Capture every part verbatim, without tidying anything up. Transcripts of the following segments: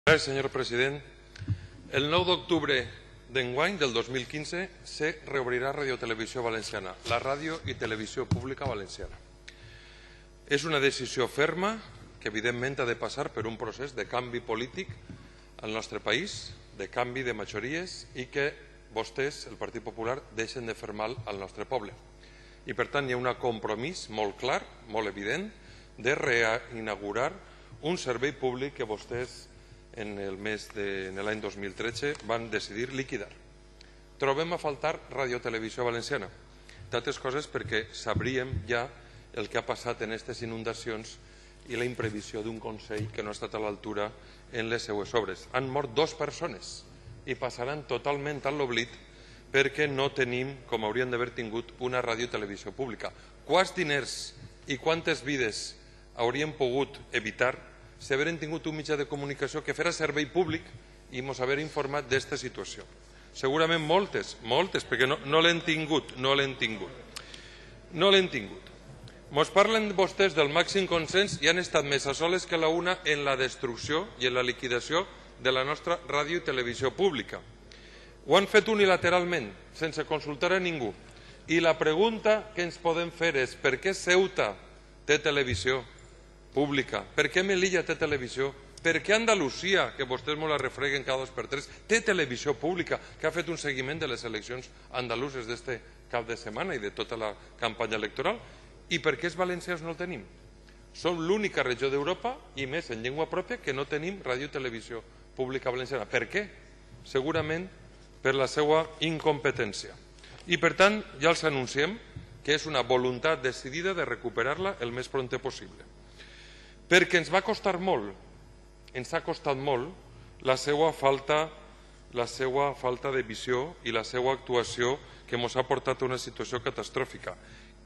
Gràcies, senyor president. El nou d'octubre d'enguany, del dos mil quinze, se reobrirà Radio Televisió Valenciana, la ràdio i televisió pública valenciana. És una decisió ferma que, evidentment, ha de passar per un procés de canvi polític al nostre país, de canvi de majories i que vostès, el Partit Popular, deixen de fer mal al nostre poble. I, per tant, hi ha un compromís molt clar, molt evident, de reinaugurar un servei públic que vostès en el mes de l'any dos mil tretze van decidir liquidar. Trobem a faltar Radio Televisió Valenciana, d'altres coses perquè sabríem ja el que ha passat en aquestes inundacions i la imprevisió d'un Consell que no ha estat a l'altura en les seues obres. Han mort dues persones i passaran totalment a l'oblit perquè no tenim, com hauríem d'haver tingut, una ràdio i televisió pública. Quants diners i quantes vides hauríem pogut evitar si hagueren tingut un mitjà de comunicació que fera servei públic i ens haver informat d'aquesta situació? Segurament moltes, moltes, perquè no, no l'hem tingut, no l'hem tingut. No l'hem tingut. Ens parlen vostès del màxim consens i han estat més a soles que la una en la destrucció i en la liquidació de la nostra ràdio i televisió pública. Ho han fet unilateralment, sense consultar a ningú. I la pregunta que ens podem fer és per què Ceuta té televisió pública? Per què Melilla té televisió? Per què Andalusia, que vostès me la refreguen cada dos per tres, té televisió pública, que ha fet un seguiment de les eleccions andaluses d'este cap de setmana i de tota la campanya electoral? I per què els valencians no el tenim? Som l'única regió d'Europa, i més en llengua pròpia, que no tenim ràdio i televisió pública valenciana. Per què? Segurament per la seva incompetència. I per tant, ja els anunciem que és una voluntat decidida de recuperar-la el més prompte possible. Perquè ens va costar molt, ens ha costat molt la seva falta, la seva falta de visió i la seva actuació que ens ha portat a una situació catastròfica.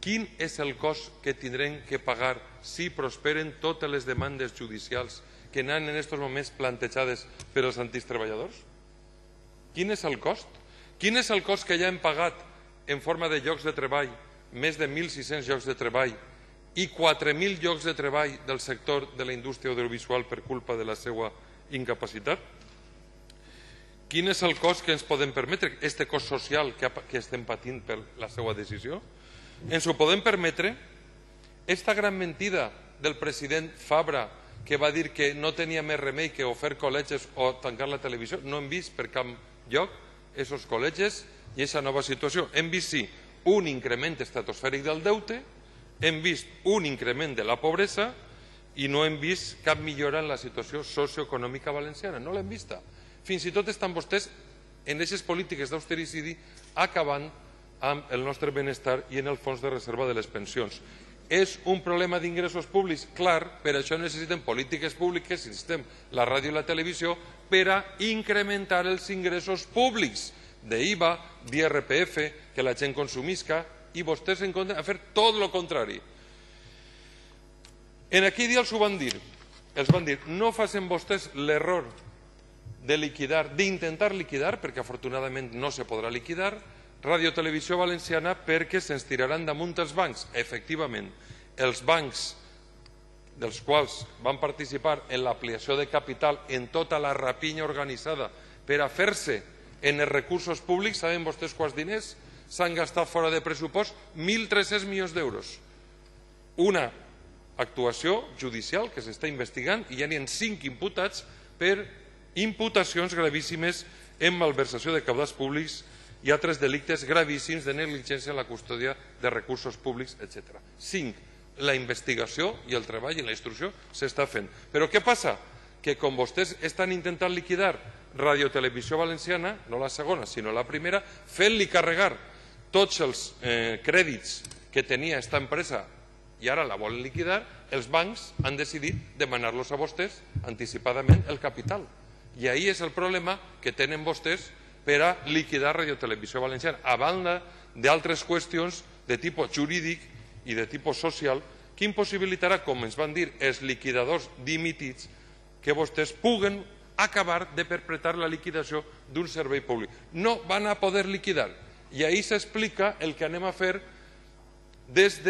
Quin és el cost que tindrem que pagar si prosperen totes les demandes judicials que han en aquests moments plantejades per als antics treballadors? Quin és el cost? Quin és el cost que ja hem pagat en forma de llocs de treball, més de mil sis-cents llocs de treball, i quatre mil llocs de treball del sector de la indústria audiovisual per culpa de la seva incapacitat? Quin és el cost que ens podem permetre, aquest cost social que estem patint per la seva decisió? Ens ho podem permetre? Aquesta gran mentida del president Fabra, que va dir que no tenia més remei que o fer col·legis o tancar la televisió, no hem vist per cap lloc aquests col·legis i aquesta nova situació. Hem vist, sí, un increment estratosfèric del deute, hem vist un increment de la pobresa i no hem vist cap millora en la situació socioeconòmica valenciana. No l'hem vista. Fins i tot estan vostès en aquestes polítiques d'austericidi acabant amb el nostre benestar i en el fons de reserva de les pensions. És un problema d'ingressos públics? Clar, per això necessitem polítiques públiques, necessitem la ràdio i la televisió, per a incrementar els ingressos públics d'I V A, d'I R P F, que la gent consumisca, i vostès en compten a fer tot el contrari. En aquell dia els ho van dir, els van dir, no facin vostès l'error de liquidar, d'intentar liquidar, perquè afortunadament no se podrà liquidar, Ràdio Televisió Valenciana perquè se'ns tiraran damunt els bancs. Efectivament, els bancs dels quals van participar en l'ampliació de capital en tota la rapinya organitzada per a fer-se en els recursos públics, saben vostès quants diners s'han gastat fora de pressupost? mil tres-cents milions d'euros. Una actuació judicial que s'està investigant i ja n'hi ha cinc imputats per imputacions gravíssimes en malversació de cabals públics i altres delictes gravíssims de negligència en la custòdia de recursos públics, etcètera. Cinc. La investigació i el treball i la instrucció s'està fent. Però què passa? Que com vostès estan intentant liquidar Radio Televisió Valenciana, no la segona, sinó la primera, fent-li carregar tots els eh, crèdits que tenia aquesta empresa i ara la volen liquidar, els bancs han decidit demanar-los a vostès anticipadament el capital. I ahí és el problema que tenen vostès per a liquidar Radio Televisió Valenciana, a banda d'altres qüestions de tipus jurídic i de tipus social que impossibilitarà, com ens van dir els liquidadors dimitits, que vostès puguen acabar de perpetrar la liquidació d'un servei públic. No van a poder liquidar. I ahí s'explica el que anem a fer des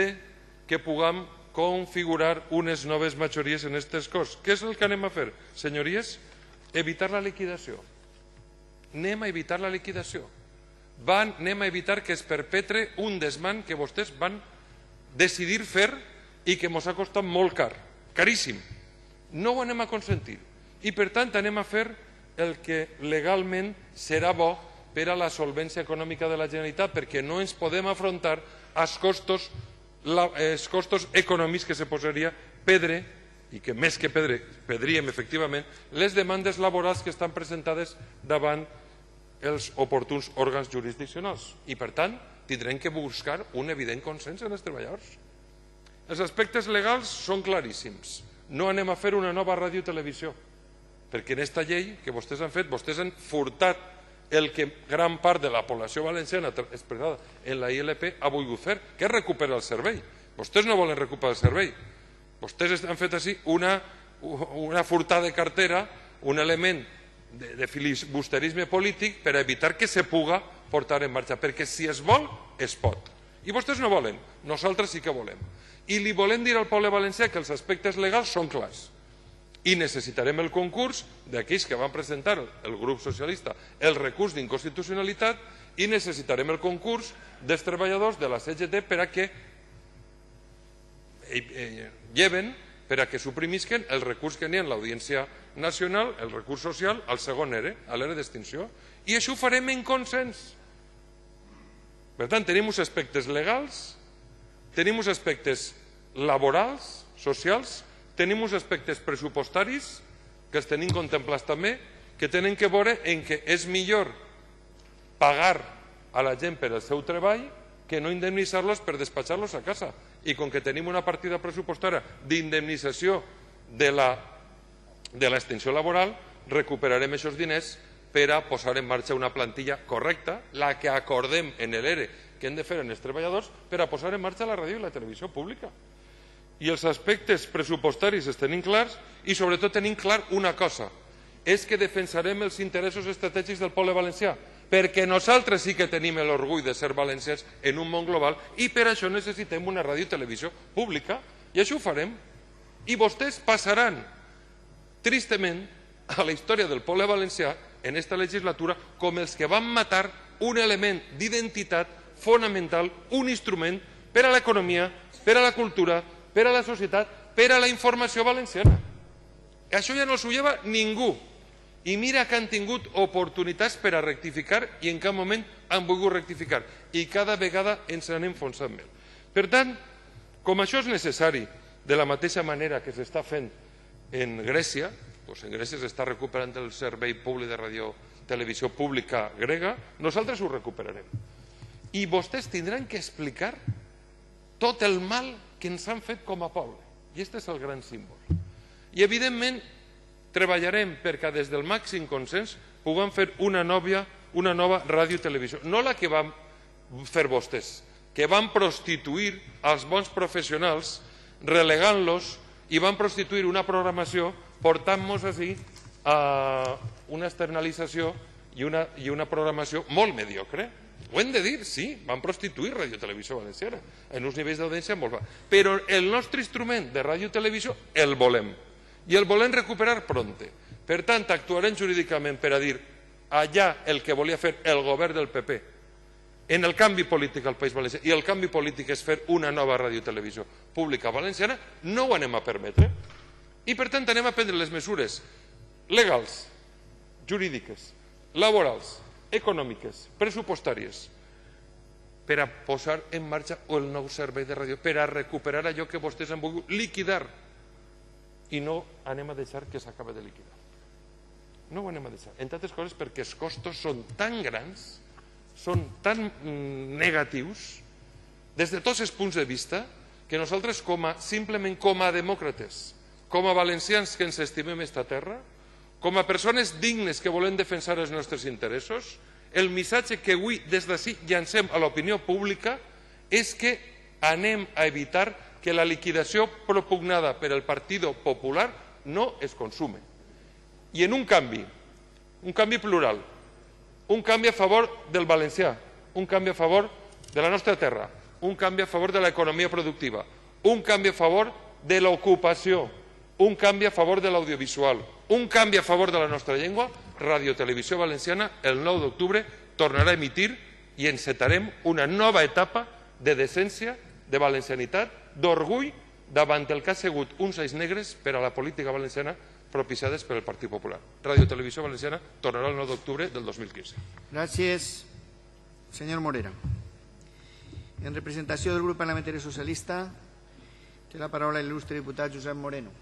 que puguem configurar unes noves majories en aquestes coses. Què és el que anem a fer, senyories? evitar la liquidació. Anem a evitar la liquidació. Van, anem a evitar que es perpetre un desmant que vostès van decidir fer i que ens ha costat molt car, caríssim. No ho anem a consentir. I per tant anem a fer el que legalment serà bo per a la solvència econòmica de la Generalitat, perquè no ens podem afrontar als costos, els costos econòmics que se posaria pedre, i que més que pedre, pedríem efectivament, les demandes laborals que estan presentades davant els oportuns òrgans jurisdiccionals. I per tant, tindrem que buscar un evident consens en els treballadors. Els aspectes legals són claríssims. No anem a fer una nova ràdio i televisió, perquè en aquesta llei que vostès han fet, vostès han furtat el que gran part de la població valenciana expressada en la I L P ha volgut fer, que és recuperar el servei. Vostès no volen recuperar el servei. Vostès han fet així una, una furtada de cartera, un element de, de filibusterisme polític per evitar que se puga portar en marxa, perquè si es vol, es pot. I vostès no volen, nosaltres sí que volem. I li volem dir al poble valencià que els aspectes legals són clars. I necessitarem el concurs d'aquells que van presentar el grup socialista el recurs d'inconstitucionalitat i necessitarem el concurs dels treballadors de la C G T per a que lleven, per a que suprimisquen el recurs que n'hi ha en l'Audiència Nacional, el recurs social, al segon E R E, a l'E R E d'extinció. I això ho farem en consens. Per tant, tenim uns aspectes legals, tenim uns aspectes laborals, socials, tenim uns aspectes pressupostaris, que els tenim contemplats també, que tenen que veure en què és millor pagar a la gent per el seu treball que no indemnitzar-los per despatxar-los a casa. I com que tenim una partida pressupostària d'indemnització de l'extinció laboral, recuperarem aquests diners per a posar en marxa una plantilla correcta, la que acordem en l'E R E que hem de fer en els treballadors, per a posar en marxa la ràdio i la televisió pública. I els aspectes pressupostaris els tenim clars i sobretot tenim clar una cosa, és que defensarem els interessos estratègics del poble valencià, perquè nosaltres sí que tenim l'orgull de ser valencians en un món global i per això necessitem una ràdio i televisió pública i això ho farem. I vostès passaran tristament a la història del poble valencià en aquesta legislatura com els que van matar un element d'identitat fonamental, un instrument per a l'economia, per a la cultura, per a la societat, per a la informació valenciana. Això ja no s'ho lleva ningú. I mira que han tingut oportunitats per a rectificar i en cap moment han volgut rectificar. I cada vegada ens anem enfonsant més. Per tant, com això és necessari, de la mateixa manera que s'està fent en Grècia, doncs en Grècia s'està recuperant el servei públic de ràdio televisió pública grega, nosaltres ho recuperarem. I vostès tindran que explicar tot el mal que ens han fet com a poble. I aquest és el gran símbol. I evidentment treballarem perquè des del màxim consens puguem fer una nova, una nova ràdio i televisió. No la que van fer vostès, que van prostituir els bons professionals relegant-los i van prostituir una programació portant-nos així a una externalització i una, i una programació molt mediocre. Ho hem de dir, sí, van prostituir Ràdio Televisió Valenciana en uns nivells d'audiència molt baixos. Però el nostre instrument de ràdio i televisió el volem. I el volem recuperar pronte. Per tant, actuarem jurídicament per a dir allà el que volia fer el govern del P P en el canvi polític al País Valencià, i el canvi polític és fer una nova ràdio i televisió pública valenciana, no ho anem a permetre. I per tant anem a prendre les mesures legals, jurídiques, laborals, econòmiques, pressupostàries, per a posar en marxa el nou servei de ràdio, per a recuperar allò que vostès han volgut liquidar, i no anem a deixar que s'acabi de liquidar. No ho anem a deixar, entre altres coses perquè els costos són tan grans, són tan negatius, des de tots els punts de vista, que nosaltres com a, simplement com a demòcrates, com a valencians que ens estimem esta terra, com a persones dignes que volem defensar els nostres interessos, el missatge que avui des d'ací llancem a l'opinió pública és que anem a evitar que la liquidació propugnada per el Partit Popular no es consume. I en un canvi, un canvi plural, un canvi a favor del valencià, un canvi a favor de la nostra terra, un canvi a favor de l'economia productiva, un canvi a favor de l'ocupació, un canvi a favor de l'audiovisual, un canvi a favor de la nostra llengua, Ràdio Televisió Valenciana el nou d'octubre tornarà a emitir i encetarem una nova etapa de decència, de valencianitat, d'orgull davant el que ha sigut uns anys negres per a la política valenciana propiciades per el Partit Popular. Ràdio Televisió Valenciana tornarà el nou d'octubre del dos mil quinze. Gràcies, senyor Morera. En representació del grup parlamentari socialista, té la paraula l'il·lustre diputat Josep Moreno.